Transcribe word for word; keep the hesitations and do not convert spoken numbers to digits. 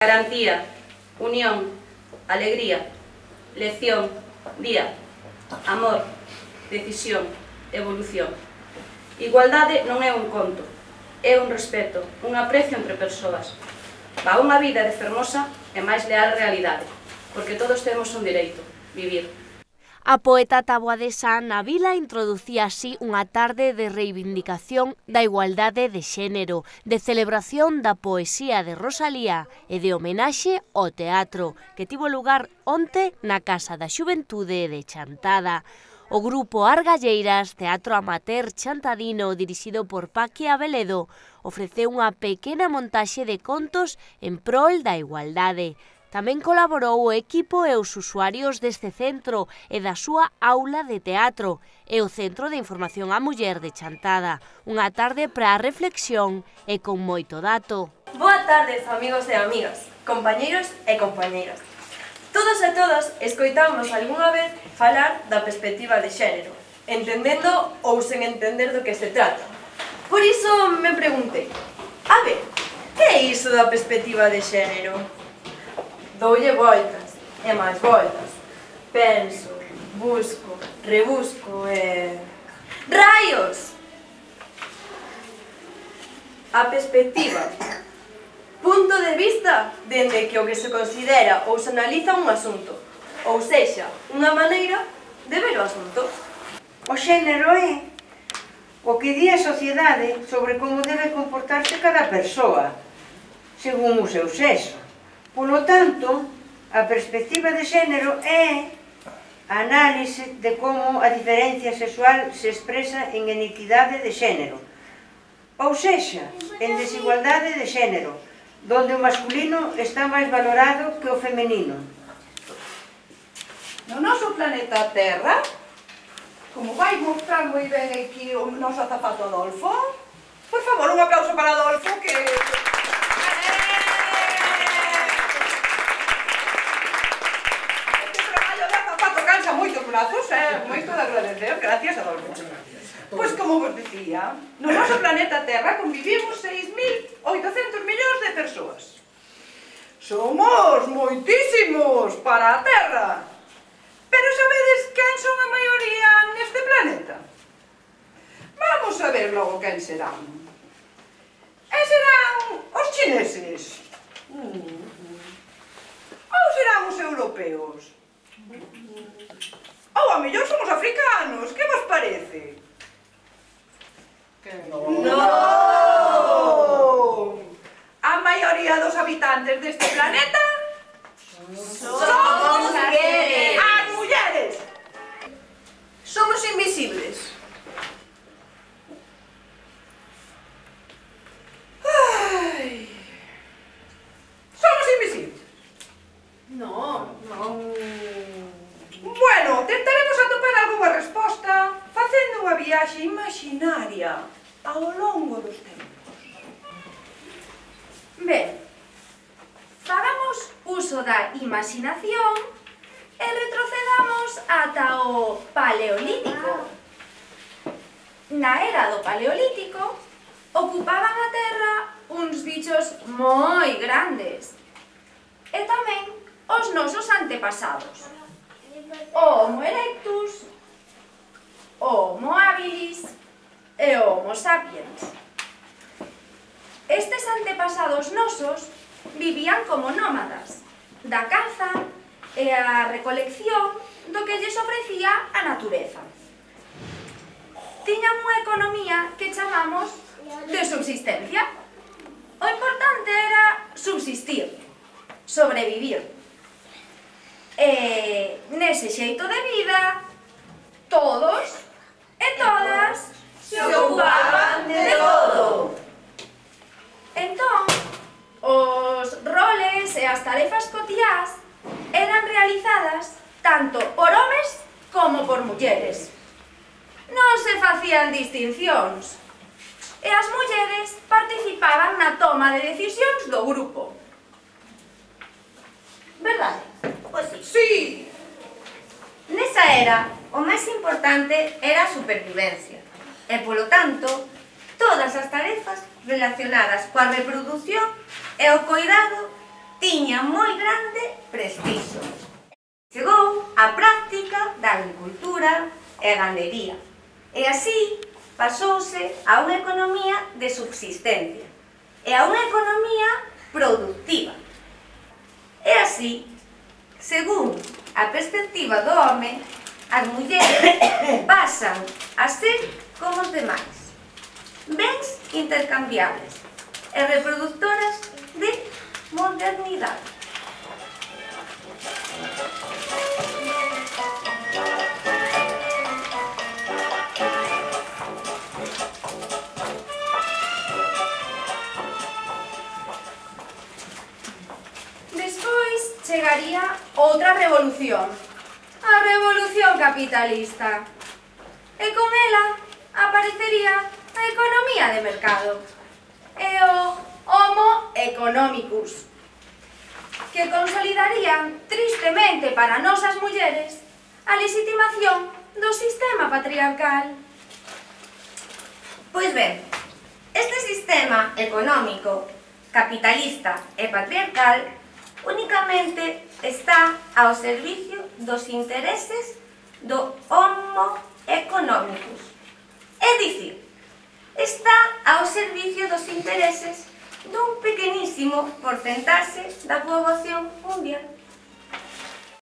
Garantía, unión, alegría, lección, día, amor, decisión, evolución. Igualdade non é un conto, é un respeto, un aprecio entre persoas. Para unha vida de fermosa e máis leal realidade, porque todos temos un dereito, vivir. A poeta taboadesa Ana Vila introducía así unha tarde de reivindicación da igualdade de xénero, de celebración da poesía de Rosalía e de homenaxe ao teatro, que tivo lugar onte na Casa da Xuventude de Chantada. O grupo Argalleiras, teatro amateur chantadino dirixido por Paqui Abeledo, ofreceu unha pequena montaxe de contos en prol da igualdade. Tamén colaborou o equipo e os usuarios deste centro e da súa aula de teatro e o Centro de Información á Muller de Chantada. Unha tarde para a reflexión e con moito dato. Boa tarde, amigos e amigas, compañeiros e compañeiras. Todos e todas escoitamos algunha vez falar da perspectiva de xénero, entendendo ou sen entender do que se trata. Por iso me preguntei, a ver, que é iso da perspectiva de xénero? Doulle voltas e máis voltas. Penso, busco, rebusco e... ¡Raios! A perspectiva. Punto de vista dende que o que se considera ou se analiza un asunto. Ou sexa, unha maneira de ver o asunto. O xénero é o que di a sociedade sobre como debe comportarse cada persoa, según o seu sexo. Polo tanto, a perspectiva de xénero é a análise de como a diferencia sexual se expresa en inequidade de xénero, ou sexa, en desigualdade de xénero, donde o masculino está máis valorado que o femenino. No noso planeta Terra, como vai mostrar moi ben aquí o noso zapato Adolfo, por favor, un aplauso para Adolfo, que... moitos brazos, é moito de agradecer, gracias Adolfo. Pois como vos dicía, no noso planeta Terra convivimos seis mil oitocentos millóns de persoas. Somos moitísimos para a Terra. Pero sabedes quen son a maioría neste planeta? Vamos a ver logo quen serán. E serán os chineses? Ou serán os europeos? Ou a mellor son os africanos, que vos parece? Non! A maioría dos habitantes deste planeta somos mulleres! As mulleres! Somos invisibles. Ai. Somos invisibles? Non, non. Bueno, tentaremos atopar algunha resposta facendo unha viaxe imaginaria ao longo dos tempos. Ben, fagamos uso da imaginación e retrocedamos ata o Paleolítico. Na era do Paleolítico ocupaban a terra uns bichos moi grandes e tamén os nosos antepasados. O Homo erectus, o Homo habilis e o Homo sapiens. Estes antepasados nosos vivían como nómadas, da caza e a recolección do que lles ofrecía a natureza. Tiñan unha economía que chamamos de subsistencia. O importante era subsistir, sobrevivir. E nese xeito de vida, todos e todas Se ocupaban de todo. Entón, os roles e as tarefas cotiás eran realizadas tanto por homes como por mulleres. Non se facían distincións e as mulleres participaban na toma de decisións do grupo. Verdade? Pois sí. Sí! Nesa era, o máis importante era a supervivencia e, polo tanto, todas as tarefas relacionadas coa reproducción e o coidado tiña moi grande prestixio. Chegou a práctica da agricultura e gandería, e así pasouse a unha economía de subsistencia e a unha economía productiva. E así, según a perspectiva do home, as mulleres pasan a ser como os demais, bens intercambiables e reproductoras de modernidade. Despois chegaría outra revolución, a revolución capitalista. E con ela aparecería a economía de mercado e o Homo economicus, que consolidarían tristemente para nosas mulleres a legitimación do sistema patriarcal. Pois ben, este sistema económico, capitalista e patriarcal únicamente está ao servicio dos intereses do Homo economicus. É dicir, está ao servicio dos intereses dun pequenísimo porcentaxe da poboación mundial.